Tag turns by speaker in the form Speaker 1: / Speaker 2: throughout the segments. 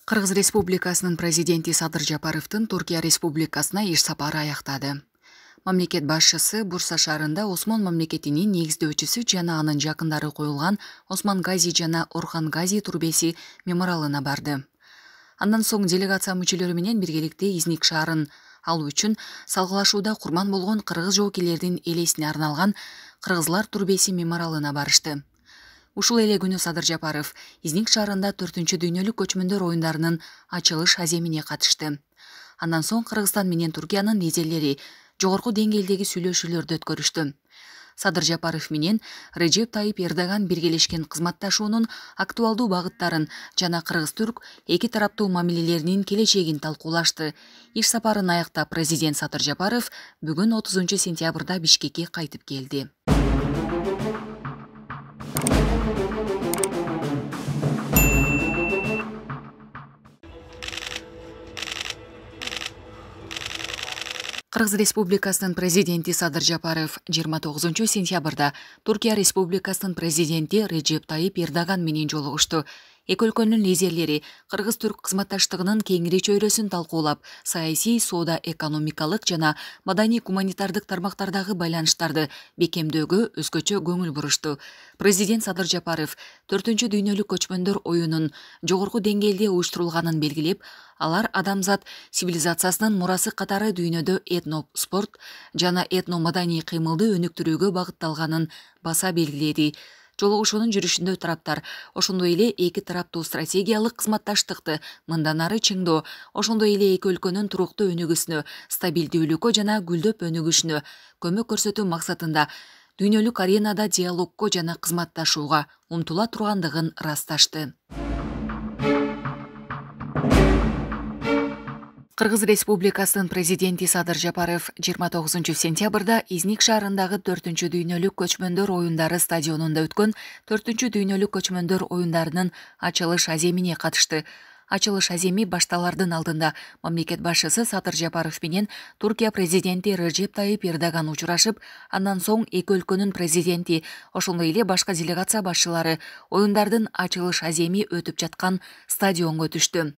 Speaker 1: Кыргыз Республикасынын президенти Садыр Жапаровдун Түркия Республикасына иш сапары аяктады. Мамлекет башчысы Бурса шаарында Осмон мамлекетинин негиздөөчүсү жана анын жакындары коюлган Осман Гази жана Орхан Гази турбеси мемориалына барды. Андан соң делегация мүчөлөрү менен биргеликте Изник шаарын алуу үчүн салгылашууда курман болгон кыргыз жоокерлердин элесине арналган Кыргызлар турбеси мемориалына барышты. Ушул эле күнү Садыр Жапаров Изник шаарында 4-дүйнөлүк көчмөндөр оюндарынын ачылыш аземине катышты. Андан соң Кыргызстан менен Түркиянын лидерлери жогорку деңгээлдеги сүйлөшүүлөрдү өткөрүштү. Садыр Жапаров менен Режеп Тайип Эрдоган биргелешкен кызматташуунун актуалдуу багыттарын жана кыргыз-түрк эки тараптуу мамилелеринин келечегин талкуулашты. Иш сапарын аяктап президент Садыр Жапаров бүгүн 30-сентябрда Бишкекке кайтып келди. Кыргыз Республикасынын президенти Садыр Жапаров 29-сентябрда Түркия Республикасынын президенти Режеп Тайип Эрдоган менен жолугушту. Эки өлкөнүн лидерлери кыргыз-түрк кызматташтыгынын кеңири чөйрөсүн талкуулап, саясий, соода, экономикалык жана маданий-гуманитардык тармактардагы байланыштарды бекемдөөгө өзгөчө көңүл бурушту. Президент Садыр Жапаров 4-дүйнөлүк көчмөндөр оюнун жогорку деңгээлде уюштурулганын белгилеп, алар адамзат цивилизациясынын мурасы катары дүйнөдө этно-спорт жана этно-маданий кыймылды өнүктүрүүгө багытталганын баса белгиледи. Жолугушуунун жүрүшүндө тараптар ошондой эле эки тараптуу стратегиялык кызматташтыкты мындан ары чыңдоо, ошондой эле эки өлкөнүн туруктуу өнүгүүсүнө, стабилдүүлүккө жана гүлдөп өнүгүшүнө көмөк көрсөтүү максатында дүйнөлүк аренада диалогко жана кызматташууга умтула тургандыгын ырасташты. Кыргыз Республикасынын президенти Садыр Жапаров 29-сентябрда Изник шаарындагы 4-дүйнөлүк көчмөндөр оюндары стадионунда өткөн 4-дүйнөлүк көчмөндөр оюндарынын ачылыш аземине катышты. Ачылыш аземи башталардын алдында мамлекет башчысы Садыр Жапаров менен Түркия президенти Режеп Тайип Эрдоган учурашып, андан соң эки өлкөнүн президенти, ошондой эле башка делегация башчылары оюндардын ачылыш аземи өтүп жаткан стадионго түштү.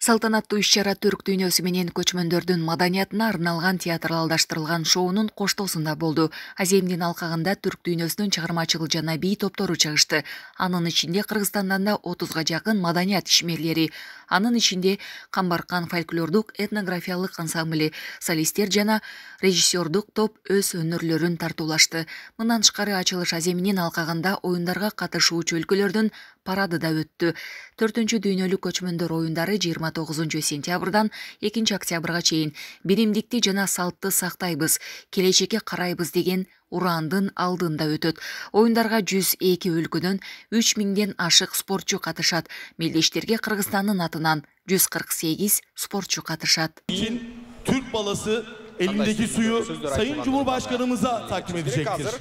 Speaker 1: Салтанаттуу иш-чара түрк дүйнөсү менен көчмөндөрдүн маданиятына арналган театралдаштырылган шоунун коштоосунда болду. Аземдин алкагында түрк дүйнөсүнүн чыгармачыл жана бий топтору чыгышты. Анын ичинде Кыргызстандан да 30га жакын маданият ишмерлери, анын ичинде Камбаркан фольклордук этнографиялык ансамбль, солисттер жана режиссердук топ өз өнөрлөрүн тартуулашты. Мындан тышкары ачылыш аземинин алкагында оюндарга катышуучу өлкөлөрдүн парады да өттү. 4-дүйнөлүк көчмөндөр оюндары 29-сентябрдан 2-октябрга чейин биримдикти жана салтты сактайбыз, келечекке карайбыз деген ураандын алдында өтөт. Оюндарга 102 өлкөдөн 3000ден ашык спортчу катышат. Мелдештерге Кыргызстандын атынан 148 спортчу катышат.
Speaker 2: Türk balası elindeki suyu Sayın Cumhurbaşkanımıza takdim edecektir.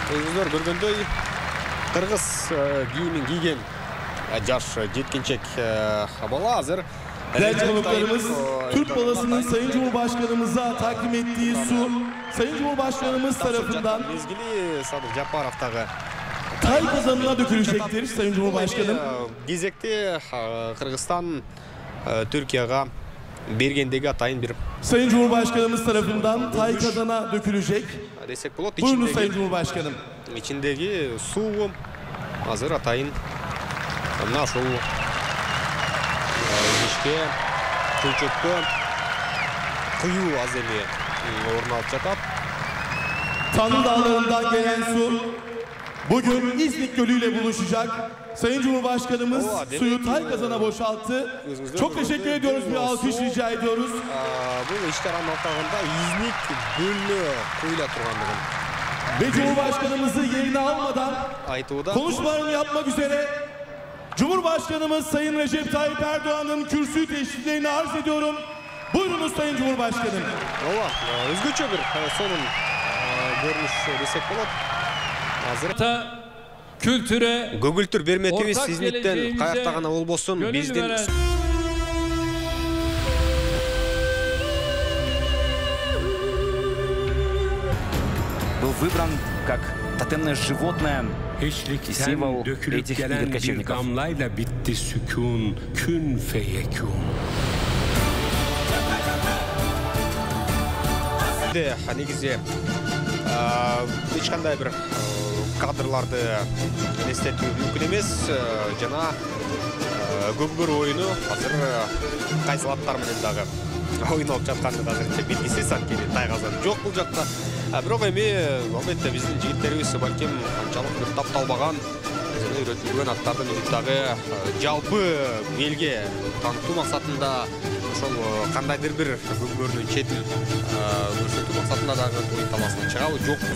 Speaker 3: Өзүңөр көргөндөй кыргыз кийимин кийген жаш жеткинчек бала азыр
Speaker 2: Değerli konuklarımız, Türk balasının Sayın Cumhurbaşkanımıza takdim ettiği su, Sayın Cumhurbaşkanımız tarafından
Speaker 3: mezgili Садыр Жапаровтагы
Speaker 2: tay kazanına dökülecektir Sayın Cumhurbaşkanım.
Speaker 3: Кезекте Кыргызстан Türkiye'ga bергендеги атайын берип,
Speaker 2: Sayın Cumhurbaşkanımız tarafından tay kazana dökülecek.
Speaker 3: Desek болот.
Speaker 2: Buyurun Sayın Cumhurbaşkanım.
Speaker 3: İçindeki su hazır atayın. Mına ошол ишке чөйчөткө кыюу аземи орун алып жатат.
Speaker 2: Tanrı Dağları'ndan gelen su bugün İznik Gölü ile buluşacak. Sayın Cumhurbaşkanımız suyu tay kazana boşalttı. Çok teşekkür ediyoruz. Bir alkış rica ediyoruz.
Speaker 3: Bu ишканын ортогунда İznik Gölü куйула тургандыгын
Speaker 2: Ve Cumhurbaşkanımızı yerine almadan konuşmalarını yapmak üzere Cumhurbaşkanımız Sayın Recep Tayyip Erdoğan'ın kürsü teşriflerini arz ediyorum. Buyurunuz Sayın Cumhurbaşkanım.
Speaker 3: Өзгөчө бир сонун көрүнүш десек болот. Азыр
Speaker 4: kültüre
Speaker 3: көгүлтүр берметибиз İznik'ten каякта гана болбосун биздин
Speaker 5: был выбран как тотемное животное, символ этих игр кочевников.
Speaker 6: Damlayla bitti sükun, kün feyekun.
Speaker 3: Негизи эч кандай бир кадрларды элестетүү мүмкүн эмес. Жана көкбөр оюну азыр кайсыл аттар менен дагы ойнолуп жатканы азырынча белгисиз, анткени тайгазан жок бул жакта. Бирок эми албетте биздин жигиттерибиз балким анчалык бир тапталбаган жана үйрөтүлгөн аттарды дагы жалпы элге таанытуу максатында ошол кандайдыр бир көкбөрүнүн четин көрсөтүү максатында дагы оюн талаасына чыгабы жокпу?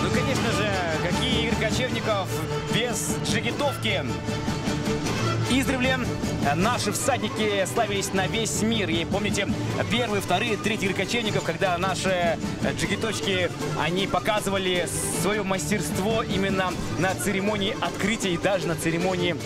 Speaker 5: Ну, конечно же, какие игры кочевников без джигитовки? Издревле наши всадники славились на весь мир. И помните, первые, вторые, третьи игры кочевников, когда наши джигиточки, они показывали свое мастерство именно на церемонии открытия и даже на церемонии